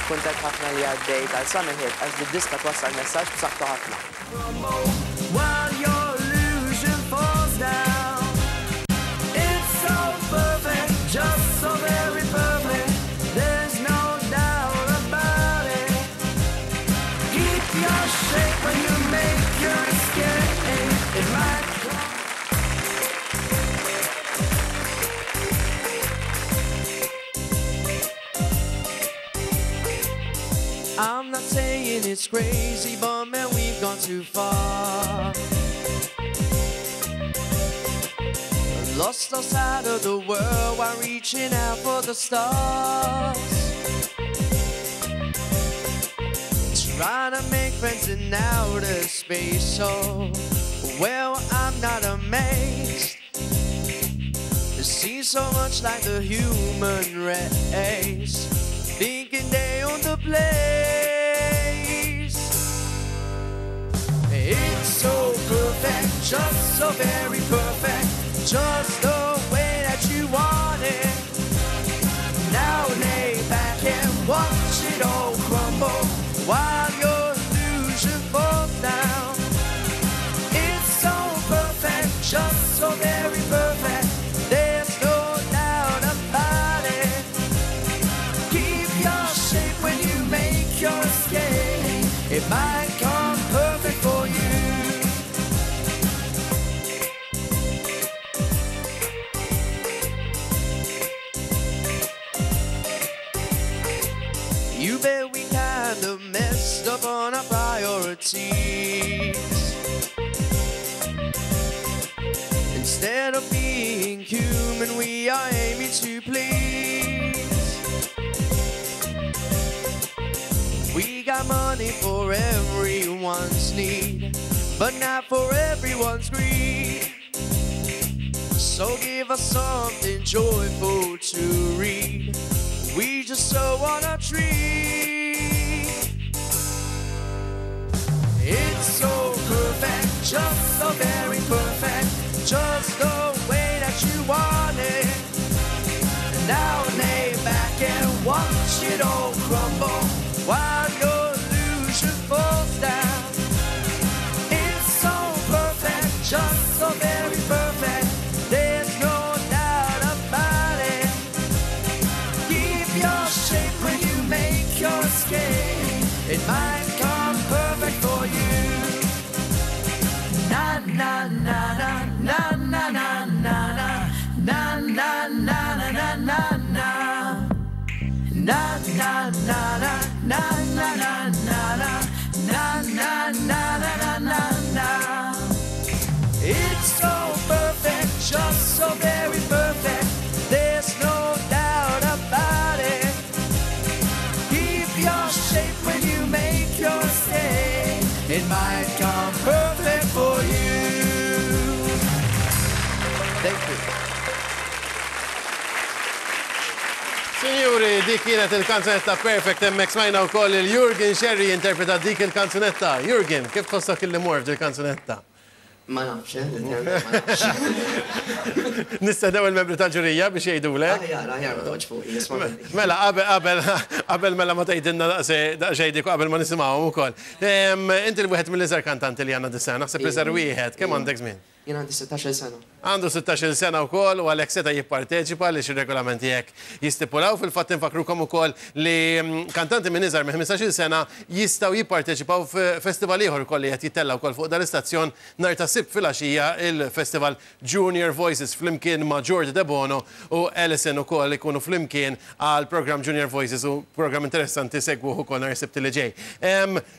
Kuntent ħafna li għaddejt għal Summer Hit għax did-diska twassal messaġġ b'saħħtu ħafna. While your illusion falls down. It's so perfect, just so very perfect. There's no doubt about it. Keep your shape when you make your escape. It might come. I'm not saying it's crazy, but man, we've gone too far. Lost our side of the world while reaching out for the stars. Trying to make friends in outer space, so well, I'm not amazed. It seems so much like the human race, thinking they own the place. It's so perfect, just so very perfect, just the way that you want it. Now lay back and watch it all crumble while your illusion falls down. It's so perfect, just so very perfect. There's no doubt about it. Keep your shape when you make your escape. It might come perfect for you. You bet we kind of messed up on our priorities. Instead of being human, we are aiming to please. We got money for everyone's need, but not for everyone's greed. So give us something joyful to read. We just so wanna tree. It's so perfect, just so very perfect, just the way that you want it. And now lay back and watch it all crumble while your illusion falls down. It's so perfect, just so very perfect. There's no doubt about it. Keep your shape when you make your escape. It might come perfect for you. Na na na na na na na na na na na na na na na. Na na na na na na na na na na na na na na na. It's so perfect, just so very perfect. There's no doubt about it. Keep your shape when you make your escape. It might come perfect for you. Thank you. Signori, dik kienet il-kanzunetta Perfect hemmhekk smajna wkoll il-Jurgen Sherry interpreta dik il-kanzunetta. Jurgen, kif tħossok illi mort il-kanzunetta? Ma nafx, eh, literalment ma nafx. Nistennew il-membri tal-ġurija biex jgħidulek. Aħjar, aħjar, ma toqgħodx fuqi, isma' minni. Mela, qabel, qabel, qabel mela ma tgħidilna daqsxejn dik u qabel ma nisimgħuhom ukoll. Inti l-wieħed mill-iżgħar kantanti li għandna dis-sena, naħseb l-iżgħar wieħed, kemm għandek żmien? Jien għandi 16-il sena. Għandu 16-il sena wkoll u għalhekk seta' jipparteċipa għaliex ir-regolamenti hekk jistipulaw. Fil-fatt infakkrukom ukoll li kantanti minn iżgħar minn 15-il sena jistgħu jipparteċipaw f'festival ieħor ukoll li qed jittella' wkoll fuq dal-istazzjon nhar ta' Sibt filgħaxija, il-Festival Junior Voices flimkien ma' Jordi Debono u Alison ukoll ikunu flimkien għal programm Junior Voices u programm interessanti segwuh ukoll nhar is-Sibt li ġej.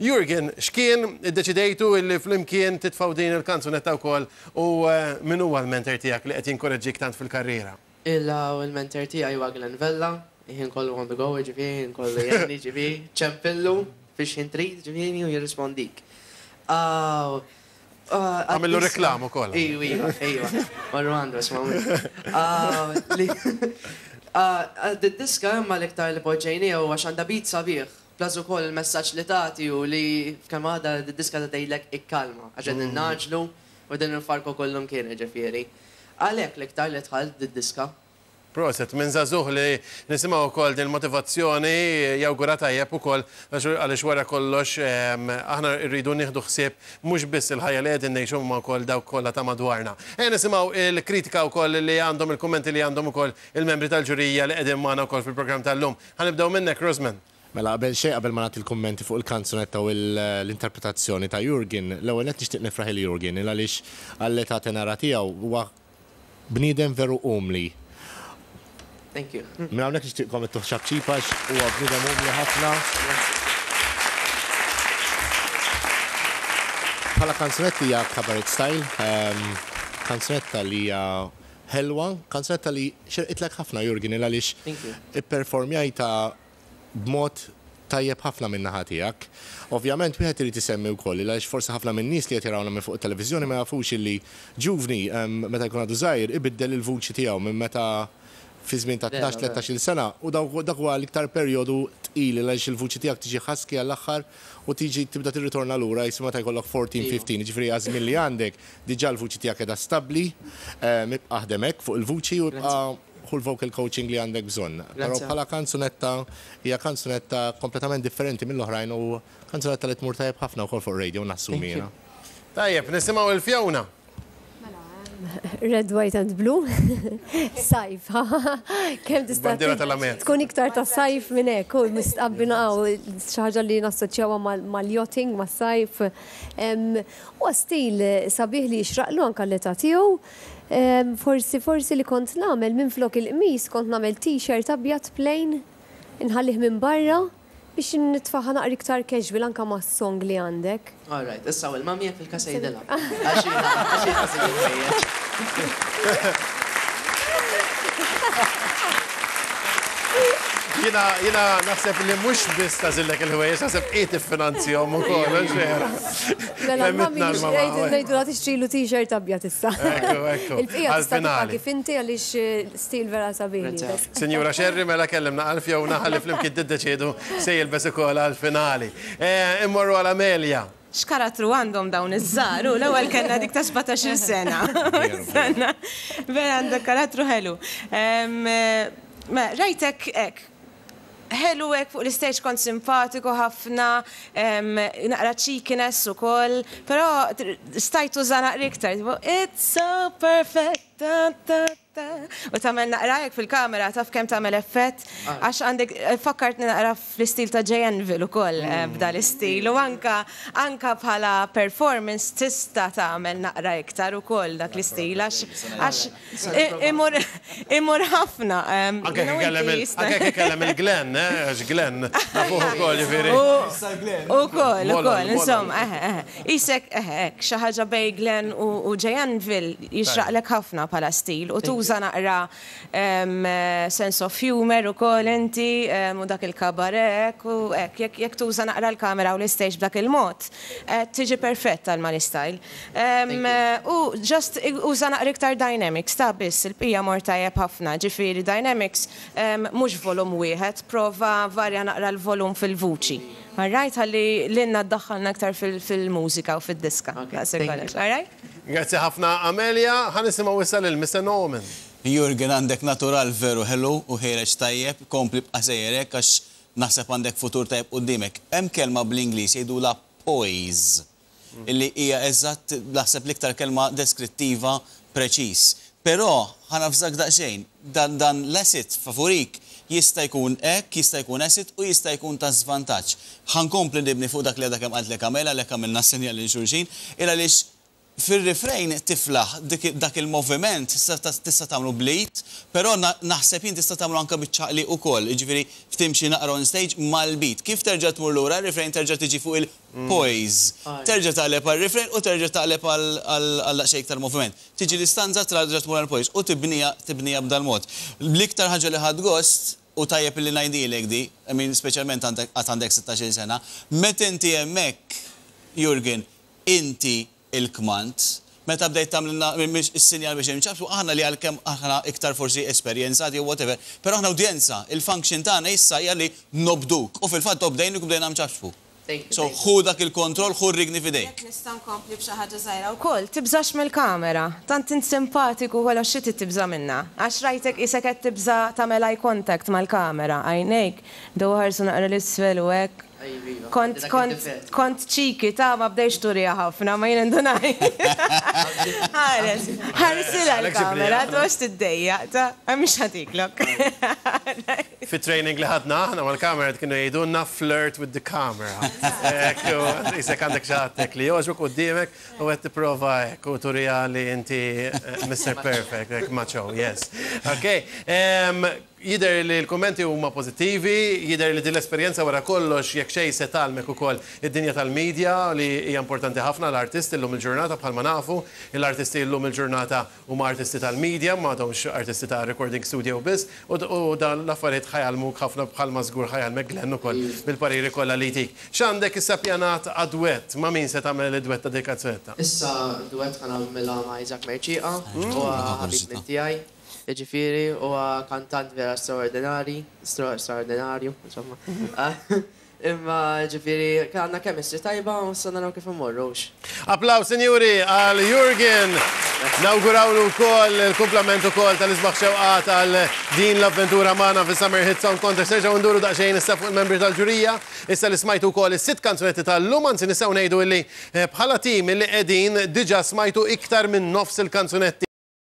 Jurgen, x'kien iddeċidejtu illi flimkien titfgħu din il-kanzunetta wkoll u min huwa l-mentor tiegħek li qed jinkoraġġik tant fil-karriera? Il-mentor tiegħi huwa Glenn Vella, ħin kollu on the go, ġifieri, ħin kollu jgħinni, ġifieri, ċempillu fiex ħin trid, ġifieri, u jirrispondik. Għamillu reklam ukoll. Ejwa, iva, ejwa. Marru għandu, isma' Diska imma l-iktar li poġġejniha huwa għax għandha beat sabiħ. Plus ukoll il-messaġġ li tagħti u li f'kemm għadha d-diska ta' tgħidlek ikkalma, għax qegħdin ngħaġġlu u qegħdin nfarku kullum kien, ġifieri. Għalhekk l-iktar li dħalt d-diska. Proset, minn żagħżugħ li nisimgħu wkoll din il-motivazzjoni jawgura tajjeb ukoll għaliex wara kollox aħna rridu nieħdu ħsieb mhux biss il-ħajja li qegħdin ngħixu imma wkoll dawk kollha ta' madwarna. Ejja nisimgħu l-kritika wkoll li għandhom, il-kummenti li għandhom ukoll il-membri tal-ġurija li qegħdin magħna wkoll fil-programm tal-lum. Ħa nibdew minnek Rosman. Mela qabel xejn qabel ma nagħti l-kummenti fuq il-kanzunetta u l-interpretazzjoni ta' Jurgen, l-ewwel nett nixtieq nifraħ lil Jurgen il għaliex għall-età tenera tiegħu huwa Bniedem veru umli. Thank you. Minn hawnhekk nixtieqkom ittuh ċapċip għax huwa bniedem umli ħafna. Bħala kanzunetta hija cabaret style, kanzunetta li hija ħelwa, kanzunetta li xirqitlek ħafna Jurgen il għaliex ipperformjajtha b'mod tajjeb ħafna min-naħa tiegħek. Ovvjament wieħed irid isemmi wkoll il għaliex forsi ħafna min-nies li qed jarawna minn fuq it-televiżjoni ma jafux illi ġuvni meta jkun għadu żgħir ibiddel il-vuċi tiegħu minn meta fi żmien ta' tnax, tlettax-il sena u dak huwa l-iktar perjodu tqil il għaliex il-vuċi tiegħek tiġi husky għall-aħħar u tiġi tibda tirritorna lura qisu meta jkollok 14, 15, jiġifieri għaż-żmien li għandek diġà l-vuċi tiegħek qiegħda stabbli, ibqa' aħdem hekk fuq il-vuċi u ibqa' Ħu l-vocal coaching li għandek bżonn. Però bħala kanzunetta hija kanzunetta kompletament differenti mill-oħrajn u kanzunetta li tmur tajjeb ħafna wkoll fuq ir-radio nassumi jiena. Tajjeb, nisimgħu lil Fiona. Red, white and blue. Sajf. Kemm tista' Bandiera tal-Amerika. tkun iktar ta' sajf minn hekk, u mistqabbina xi ħaġa li nassoċjawha mal-yachting, mas-sajf. Huwa stil sabiħ li jixraqlu anke l-età tiegħu. Forsi, forsi li kont nagħmel minflok il-qmis kont nagħmel t-shirt abjad plain, inħallih minn barra biex nitfaha naqra iktar casual anke mas-song li għandek. All right, issa u l-mummy jekk fil-każ għidilha. Għax hi għax hi tagħżel il-ħwejjeġ. Jiena, jiena naħseb li mhux biss tagħżillek il-ħwejjeġ, naħseb hi tiffinanzjahom ukoll, hux vera? Mela l-mummy ngħidulha tixtrilu t-shirt abjad issa. Ekku, ekku. Il-bqija tista' tibqa' kif inti għaliex stil vera sabiħ lilek. Sinjura Scerri mela kellimna għal Fiona ħalli flimkien tiddeċiedu se jilbes ukoll għall-finali. Immorru għal Amelia. X'karattru għandhom dawn iż-żgħar, hu l-ewwel kellna dik ta' 17-il sena. Vera għandek karattru ħelu. Mela, rajtek hekk, ħelu hekk fuq l-istage kont simpatiku ħafna, naqra cheekiness ukoll, però stajt tuża naqra iktar, tipo it's so perfect, ta ta ta, u tagħmel naqra hekk fil-kamera taf kemm tagħmel effett, għax għandek, fakkartni naqra fl-istil ta' Jay Anvil ukoll b'dal-istil u anke anke bħala performance tista' tagħmel naqra iktar ukoll dak l-istil għax għax Imur imur ħafna. Anke jekk ikellem il anke jekk ikellem il-Glenn, eh, għax Glenn nafuh ukoll jiġifieri. Ukoll, ukoll, insomma, eħe, eħe. Qisek, eħe, hekk, xi ħaġa bejn Glenn u Jay Anvil jixraqlek ħafna bħala stil u tuża naqra sense of humour ukoll inti u dak il-cabaret hekk u hekk. Jekk tuża naqra l-kamera u l-istage b'dak il-mod, tiġi perfett għal mal-istyle. U just uża naqra iktar dynamics ta' biss, il-bqija mor tajjeb ħafna, ġifieri dynamics mhux volum wieħed, prova varja naqra l-volum fil-vuċi. Alright, ħalli lilna ddaħħalna iktar fil-mużika u fid-diska. Daqshekk kollox, alright? Grazzi ħafna Amelia, ħa nisimgħu issa lil Mister Norman. Jurgen għandek natural veru ħelu u ħiereġ tajjeb, kompli ibqa' sejjer hekk għax naħseb għandek futur tajjeb quddiemek. Hemm kelma bl-Ingliż jgħidulha poise. Illi hija eżatt, naħseb l-iktar kelma deskrittiva preċiż. Però, ħa navżak daqsxejn, dan dan l-asset favurik jista' jkun hekk, jista' jkun asset u jista' jkun ta' żvantaġġ. Ħa nkompli nibni fuq dak li għadha kemm qaltlek Amela, għalhekk għamilna s-sinjal lil xulxin, il għaliex fir-refrain tiflaħ dik dak il-moviment tista' tista' tagħmlu bl-id, però naħseb jien tista' tagħmlu anke biċ-ċaqliq ukoll, jiġifieri timxi naqra on stage mal-beat. Kif terġa' tmur lura r-refrain terġa' tiġi fuq il Poise. Terġa' taqleb għar-refrain u terġa' taqleb għal daqsxejn iktar moviment. Tiġi l-istanza terġa' tmur għall-poise u tibniha tibniha b'dal-mod. L-iktar ħaġa li ħadt gost, u tajjeb illi ngħidhielek di, I mean speċjalment għandek għad għandek sittax-il sena, meta inti hemmhekk, Jurgen, inti il-kmand. Meta bdejt tagħmlilna s-sinjal biex inċapċpu, aħna li għalkemm aħna iktar forsi esperjenzati jew whatever, però aħna udjenza, il-function tagħna issa hija li nobduk. U fil-fatt obdejnik u bdejna nċapċpu. Thank you. So ħu dak il-kontroll, ħu r-rigni f'idejk. Jekk nista' nkompli b'xi ħaġa żgħira wkoll, tibżax mill-kamera. Tant int simpatiku kollox xi trid tibża' minnha? Għax rajtek qisek qed tibża' tagħmel eye contact mal-kamera, għajnejk bdew iħarsu naqra 'l isfel u hekk. Kont, kont, kont cheeky ta' ma bdejtx turiha ħafna, ma jien indunajt. Ħares, ħarsilha l-kamera, toqgħodx tiddejjaq ta' mhix ħa tiklok. Fit-training li ħadna aħna mal-kamera kienu jgħidulna flirt with the camera. Hekk, u qisek għandek xi ħadd hekk li jogħġbok quddiemek u qed tipprova hekk u turiha li inti Mister Perfect, hekk macho, yes. Okay. Jidher li l-kummenti huma pożittivi, jidher li din l-esperjenza wara kollox jekk xejn se tgħallmek ukoll id-dinja tal-media li hija importanti ħafna għal artist illum il-ġurnata bħalma nafu l-artisti llum il-ġurnata huma artisti tal-media m'għadhomx artisti ta' recording studio biss u dawn l-affarijiet ħa jgħallmuk ħafna bħalma żgur ħa jgħallmek Glenn ukoll bil-pariri kollha li jtik. X'għandek issa ppjanat għad-dwett? Ma' min se tagħmel id-dwett ta' din il-kanzunetta? Issa d-dwett ħa nagħmilha ma' Isaac Mercieca, huwa ħabib minn tiegħi. Jiġifieri huwa kantant vera straordinari, straordinarju, insomma. Imma ġifieri għandna chemistry tajba u issa naraw kif immorru hux. Applaws sinjuri għal Jurgen. Nawgurawlu wkoll il-kumplament ukoll tal-isbaħ xewqat għal din l-avventura magħna fis-Summer Hit Song Contest. Nerġgħu nduru daqsxejn issa fuq il-membri tal-ġurija. Issa li smajtu wkoll is-sitt kanzunetti tal-lum, anzi nistgħu ngħidu illi bħala tim illi qegħdin diġà smajtu iktar minn nofs il-kanzunetti.